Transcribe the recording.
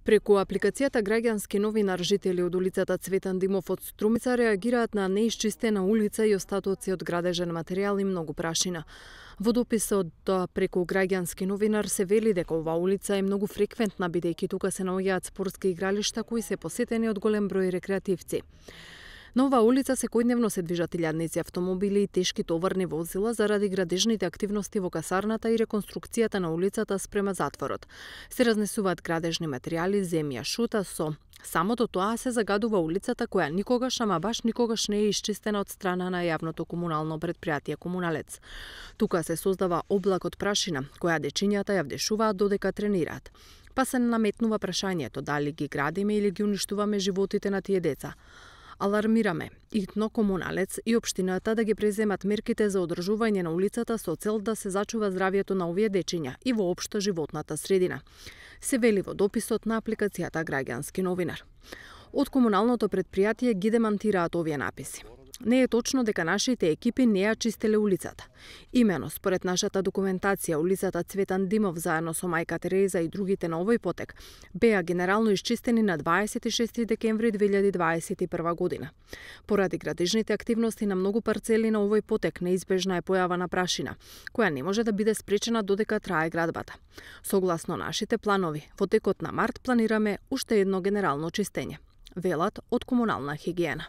Преку апликацијата Граѓански новинар, жители од улицата Цветан Димов од Струмица реагираат на неисчистена улица и остатоци од градежен материјал и многу прашина. Во дописот преку Граѓански новинар се вели дека оваа улица е многу фреквентна, бидејќи тука се наоѓаат спортски игралишта кои се посетени од голем број рекреативци. На оваа улица секојдневно се движат илјадници автомобили и тешки товарни возила заради градежните активности во касарната и реконструкцијата на улицата спрема затворот. Се разнесуваат градежни материјали, земја, шута, со самото тоа се загадува улицата која никогаш, ама баш никогаш не е исчистена од страна на јавното комунално предпријатие Комуналец. Тука се создава облак од прашина, која дечињата ја вдешуваат додека тренираат. Па се наметнува прашањето дали ги градиме или ги уништуваме животите на тие деца. Алармираме итно Комуналец и општината да ги преземат мерките за одржување на улицата со цел да се зачува здравјето на овие дечиња и воопшто животната средина. Се вели во дописот на апликацијата Граѓански новинар. Од комуналното предпријатие ги демантираат овие написи. Не е точно дека нашите екипи не ја чистеле улицата. Имено, според нашата документација, улицата Цветан Димов заедно со мајка Тереза и другите на овој потек беа генерално исчистени на 26 декември 2021 година. Поради градежните активности на многу парцели на овој потек неизбежна е појава на прашина, која не може да биде спречена додека трае градбата. Согласно нашите планови, во текот на март планираме уште едно генерално чистење, велат од комунална хигиена.